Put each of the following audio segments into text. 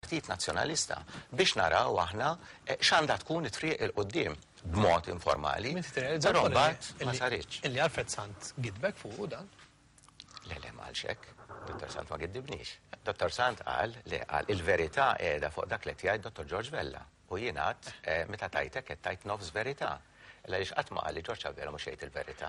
Partit Nazzjonalista biex naraw aħna x'għandha tkun it-triq 'il quddiem b'mod informali, però mbagħad ma saritx. Illi Alfred Sant gidbek fuqu dan? Le, le, ma qalx hekk. Dottor Sant ma giddibnix. Dottor Sant qal li qal il-verità qiegħda fuq dak li qed jgħid Dottor George Vella. U jien għedt, meta tgħid hekk qed tgħid nofs verità. Illa għaliex qatt ma qal li George Abela mhux jgħid il-verità.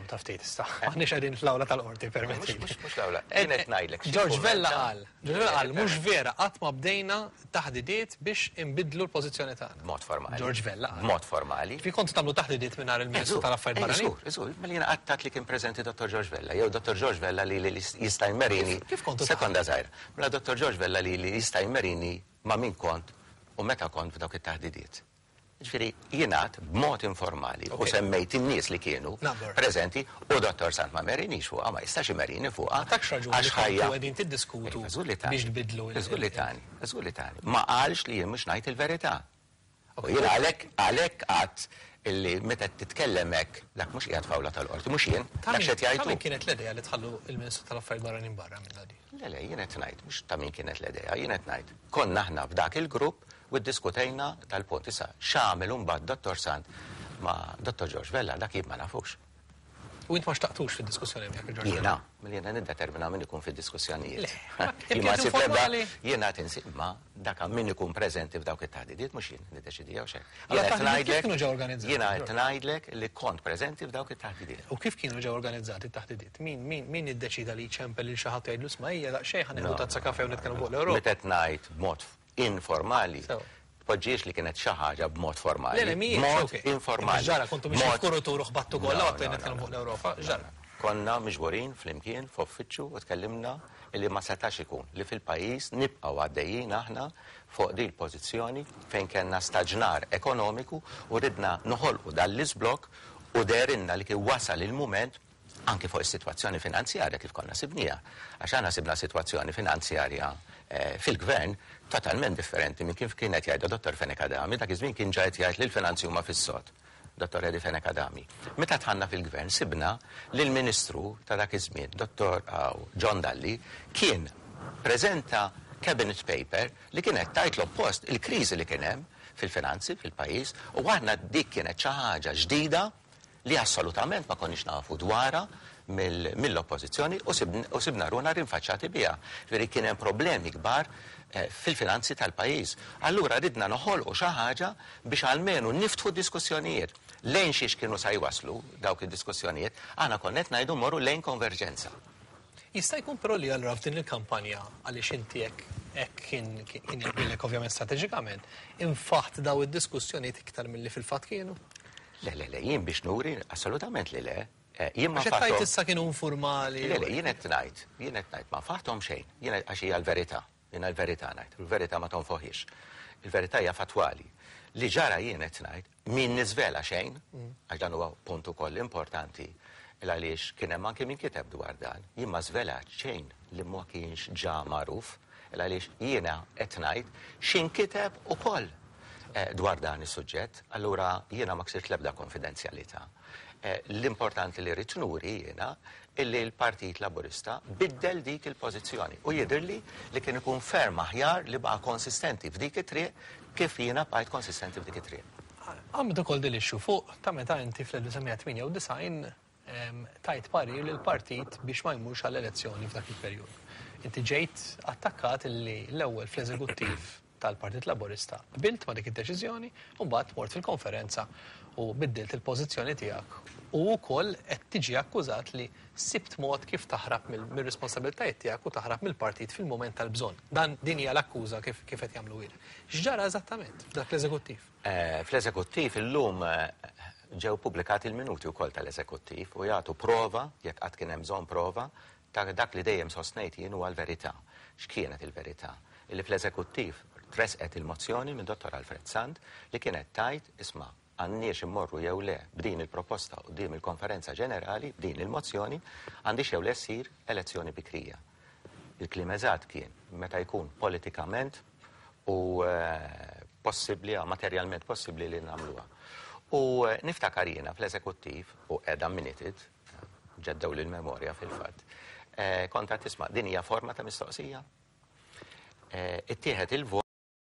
Taf tgħid issa. Aħniex qegħdin fl-awla tal-qorti, permetti. Mhux mhux l-awla. Jien qed ngħidlek. George Vella qal, George Vella qal mhux vera qatt ma bdejna taħdidiet biex inbiddlu l-pożizzjoni tagħna. B'mod formali. George Vella qal. B'mod formali. Fi kontu tagħmlu taħdidiet mingħajr il-Ministru tal-Affarijiet Barranin? Żgur, żgur. Mela jiena qatt għedt li kien preżenti Dottor George Vella jew Dottor George Vella li jista' jmerini. Kif kontu? Sekonda żgħira. Mela Dottor George Vella li jista' jmerini ma' min kont u meta kont f'dawk it-taħdidiet. Jiġifieri jien għedt b'mod informali u semmejt in-nies li kienu preżenti u Dottor Sant ma merinix fuqha, ma jistax imerini fuqha. Ma takx raġuni li kontu qegħdin tiddiskutu biex tbiddlu il- Żgur li tani, żgur li tani. Ma qalx li jien mhux ngħid il-verità. U jien għalhekk għalhekk għedt illi meta titkellem hekk dak mhux qiegħed f'awla tal-qorti, mhux jien, dak x'qed jgħid hu. Ta' min kienet l-idea li tħallu l-Ministru tal-Affarijiet Barranin barra minnha din? Le, le, jien qed ngħid, mhux ta' min kienet l-idea, jien qed ngħid, konna aħna f'dak il-grupp u ddiskutejna dal-punt. Issa, x'għamel imbagħad Dottor Sant ma' Dottor George Vella, dak jien ma nafux. U int ma xtaqtux fid-diskussjoni miegħek il-George Vella? Jiena? Mela jiena niddetermina min ikun fid-diskussjonijiet. Le, kien informali. Jiena qed insib ma dak min ikun preżenti f'dawk it-taħdidiet mhux jien niddeċidi jew xejn. Allura t-taħdidiet kif kienu ġew organizzati? Jiena qed ngħidlek li kont preżenti f'dawk it-taħdidiet. U kif kienu ġew organizzati t-taħdidiet? Min, min, min iddeċieda li jċempel lil xi ħadd u jgħidlu isma' ejja daqsxejn ħa nieħdu tazza kafè u nitkellmu fuq l-Ewropa? Meta qed ngħid b'mod informali, tpoġġihiex li kienet xi ħaġa b'mod formali. Le, le, mhijiex, B'mod ok. informali. Imma x'ġara, kontu mixjin B'mod- f'kurutur u ħbattu kollha No, u għadtu no, nitkellmu no, fuq l-Ewropa, x'ġara? Konna miġburin flimkien f'uffiċċju u tkellimna illi ma setax ikun li fil-pajjiż nibqgħu għaddejjin aħna fuq din il-pożizzjoni fejn kellna staġnar ekonomiku u ridna noħolqu dan l-iżblokk u dehrilna li kien wasal il-mument anki fuq is-sitwazzjoni finanzjarja kif konna sibniha, għax aħna sibna sitwazzjoni finanzjarja fil-Gvern totalment differenti minn kif kien qed jgħidha Dottor Fenech Adami, dak iż-żmien kien ġa qed jgħid li l-finanzi huma fis-sod, Dottor Eddie Fenech Adami. Meta dħalna fil-Gvern sibna li l-Ministru ta' dak iż-żmien, Dottor John Dalli, kien preżenta cabinet paper li kienet tgħid l-oppost, il-kriżi li kien hemm fil-finanzi fil-pajjiż u aħna dik kienet xi ħaġa ġdida li assolutament ma konniex nafu dwarha mill-Oppożizzjoni u sibna ruħna rinfaċċati biha. Jiġifieri kien hemm problemi kbar fil-finanzi tal-pajjiż. Allura ridna noħolqu xi ħaġa biex almenu niftħu d-diskussjonijiet. Lejn xiex kienu sa jwasslu dawk id-diskussjonijiet, aħna konna qed ngħidu mmorru lejn konverġenza. Jista' jkun però li allura f'din il-kampanja, għaliex inti hekk hekk kien kien jaqbillek ovvjament strateġikament, infaħt daw id-diskussjonijiet iktar milli fil-fatt kienu? Le, le, le, jien biex nuri, assolutament li le. Jien ma Għax qed tgħid issa kienu informali. Le, le, jien qed ngħid, jien qed ngħid ma nfaħthom xejn, jien għax hija l-verità, jiena l-verità ngħid, u l-verità ma tonfoħhiex. Il-verità hija fattwali. Li ġara jien qed ngħid, min niżvela xejn, għax dan huwa punt ukoll importanti, il għaliex kien hemm anki min kiteb dwar dan, jien ma żvelat xejn li ma kienx ġa magħruf, il għaliex jiena qed ngħid x'inkiteb ukoll dwar dan is-suġġett, allura jiena ma ksirt l-ebda konfidenzjalità. L-importanti li rrid nuri jiena illi l-Partit Laburista biddel dik il-pożizzjoni u jidhirli li kien ikun ferm aħjar li baqa' konsistenti f'dik it-triq kif jiena bqajt konsistenti f'dik it-triq. Għamilt ukoll din l-issue fuq ta' meta inti fl-1998 tajt parir lill-partit biex ma jmurx għal elezzjoni f'dak il-perjodu. Inti ġejt attakkat illi l-ewwel fl-eżekuttiv tal-Partit Laburista qbilt ma' dik id-deċiżjoni u mbagħad mort fil-konferenza u biddilt il-pożizzjoni tiegħek u wkoll qed tiġi akkużat li sibt mod kif taħrab mir-responsabbiltajiet tiegħek u taħrab mill-partit fil-mument tal-bżonn. Dan din hija l-akkuża kif kif qed jagħmluhielek. X'ġara eżattament f'dak l-eżekuttiv? Fl-eżekuttiv illum ġew pubblikati l-minuti wkoll tal-eżekuttiv u jagħtu prova, jekk qatt kien hemm bżonn prova, ta' dak li dejjem sostnejt jien huwa l-verità. X'kienet il-verità? Illi fl-Eżekuttiv tressqet il-mozzjoni minn Dottor Alfred Sant li kienet tgħid, isma', għandniex immorru jew le b'din il-proposta quddiem il-Konferenza Ġenerali, b'din il-mozzjoni, għandhiex jew le ssir elezzjoni bikrija. Il-kliem eżatt kien, meta jkun politikament u possibbli, materjalment possibbli li nagħmluha. U niftakar jiena fl-Eżekuttiv, u qiegħda minuted, ġeddewli l-memorja fil-fatt, kont għad tisma' din hija forma ta' mistoqsija. Ittieħed il-vot.